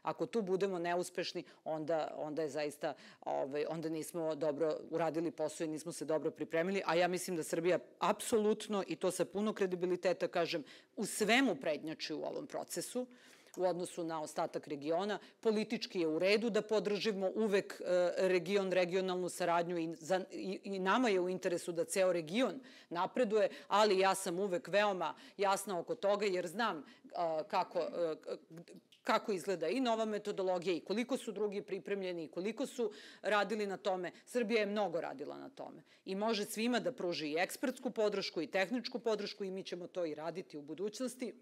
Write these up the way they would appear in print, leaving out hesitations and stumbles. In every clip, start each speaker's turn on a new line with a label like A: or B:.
A: Ako tu budemo neuspešni, onda je zaista, onda nismo dobro uradili posao i nismo se dobro pripremili, a ja mislim da Srbija apsolutno, i to sa puno kredibiliteta kažem, u svemu prednjači u ovom procesu, u odnosu na ostatak regiona. Politički je u redu da podržimo uvek regionalnu saradnju i nama je u interesu da ceo region napreduje, ali ja sam uvek veoma jasna oko toga jer znam kako izgleda i nova metodologija i koliko su drugi pripremljeni i koliko su radili na tome. Srbija je mnogo radila na tome i može svima da pruži i ekspertsku podršku i tehničku podršku i mi ćemo to i raditi u budućnosti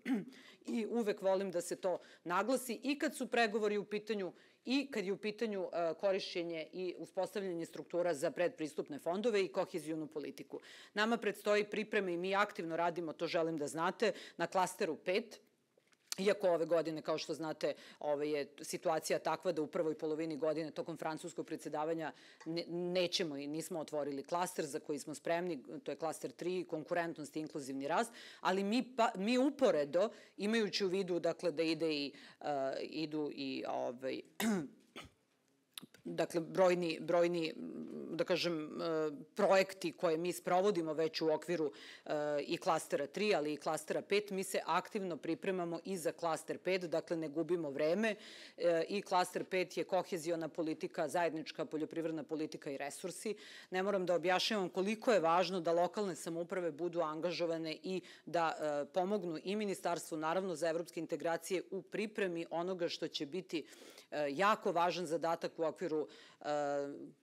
A: i uvek volim da se to naglasi i kad su pregovori u pitanju i kad je u pitanju korišćenje i uspostavljanje struktura za predpristupne fondove i kohezijonu politiku. Nama predstoji pripreme i mi aktivno radimo, to želim da znate, na klasteru 5, iako ove godine, kao što znate, je situacija takva da u prvoj polovini godine tokom francuskog predsjedavanja nećemo i nismo otvorili klaster za koji smo spremni, to je klaster 3, konkurentnost i inkluzivni rast, ali mi uporedo, imajući u vidu dakle da idu i dakle, brojni, da kažem, projekti koje mi sprovodimo već u okviru i klastera 3, ali i klastera 5, mi se aktivno pripremamo i za klaster 5, dakle ne gubimo vreme i klaster 5 je kohezijona politika, zajednička poljoprivredna politika i resursi. Ne moram da objašnjavam koliko je važno da lokalne samouprave budu angažovane i da pomognu i ministarstvu, naravno za evropske integracije, u pripremi onoga što će biti jako važan zadatak u okviru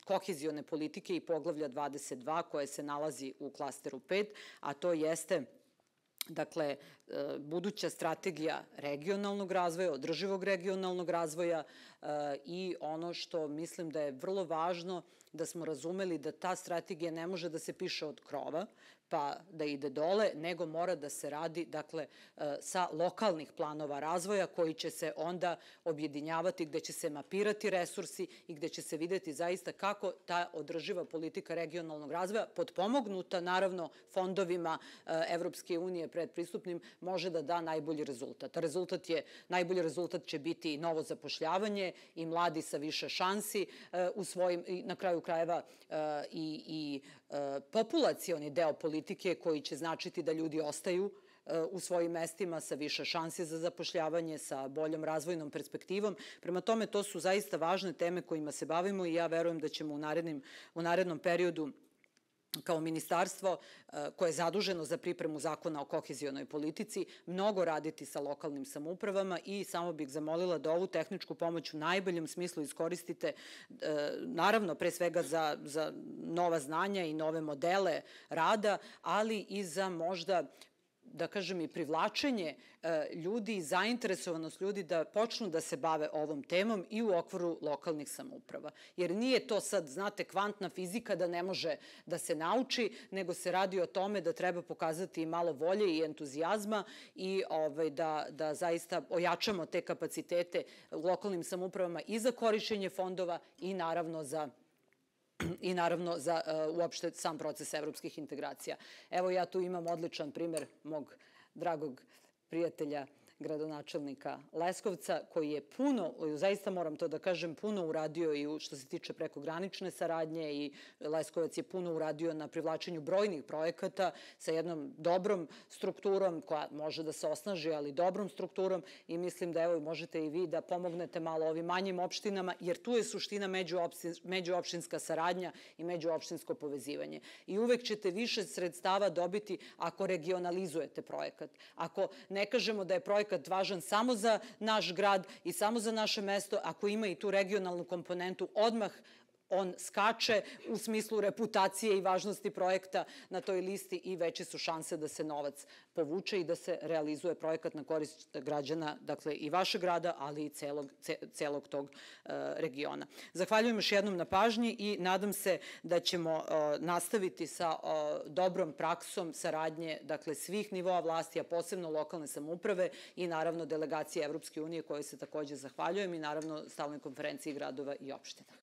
A: kohezijone politike i poglavlja 22 koje se nalazi u klasteru 5, a to jeste dakle, buduća strategija regionalnog razvoja, održivog regionalnog razvoja i ono što mislim da je vrlo važno da smo razumeli da ta strategija ne može da se piše od krova pa da ide dole, nego mora da se radi, dakle, sa lokalnih planova razvoja koji će se onda objedinjavati, gde će se mapirati resursi i gde će se videti zaista kako ta održiva politika regionalnog razvoja, potpomognuta naravno fondovima Evropske unije predpristupnim, može da da najbolji rezultat. Najbolji rezultat će biti novo zapošljavanje i mladi sa više šansi u svojim, na kraju krajeva i populacioni deo politike koji će značiti da ljudi ostaju u svojim mestima sa više šanse za zapošljavanje, sa boljom razvojnom perspektivom. Prema tome, to su zaista važne teme kojima se bavimo i ja verujem da ćemo u narednom periodu kao ministarstvo koje je zaduženo za pripremu zakona o kohezionoj politici mnogo raditi sa lokalnim samoupravama i samo bih zamolila da ovu tehničku pomoć u najboljem smislu iskoristite, naravno pre svega za nova znanja i nove modele rada, ali i za možda, da kažem, i privlačenje ljudi i zainteresovanost ljudi da počnu da se bave ovom temom i u okviru lokalnih samouprava. Jer nije to sad, znate, kvantna fizika da ne može da se nauči, nego se radi o tome da treba pokazati i malo volje i entuzijazma i da zaista ojačamo te kapacitete u lokalnim samoupravama i za korišćenje fondova i naravno za uopšte sam proces evropskih integracija. Evo ja tu imam odličan primer mog dragog prijatelja, gradonačelnika Leskovca, koji je puno, zaista moram to da kažem, puno uradio i što se tiče prekogranične saradnje i Leskovac je puno uradio na privlačenju brojnih projekata sa jednom dobrom strukturom koja može da se osnaži, ali dobrom strukturom i mislim da evo možete i vi da pomognete malo ovim manjim opštinama, jer tu je suština međuopštinska saradnja i međuopštinsko povezivanje. I uvek ćete više sredstava dobiti ako regionalizujete projekat. Ako ne kažemo da je projekat važan samo za naš grad i samo za naše mesto, ako ima i tu regionalnu komponentu, odmah on skače u smislu reputacije i važnosti projekta na toj listi i veće su šanse da se novac povuče i da se realizuje projekat na korist građana, dakle i vašeg grada, ali i celog tog regiona. Zahvaljujem još jednom na pažnji i nadam se da ćemo nastaviti sa dobrom praksom saradnje, dakle svih nivoa vlasti, a posebno lokalne samouprave i naravno delegacije Evropske unije koje se takođe zahvaljujem i naravno stalnoj konferenciji gradova i opština.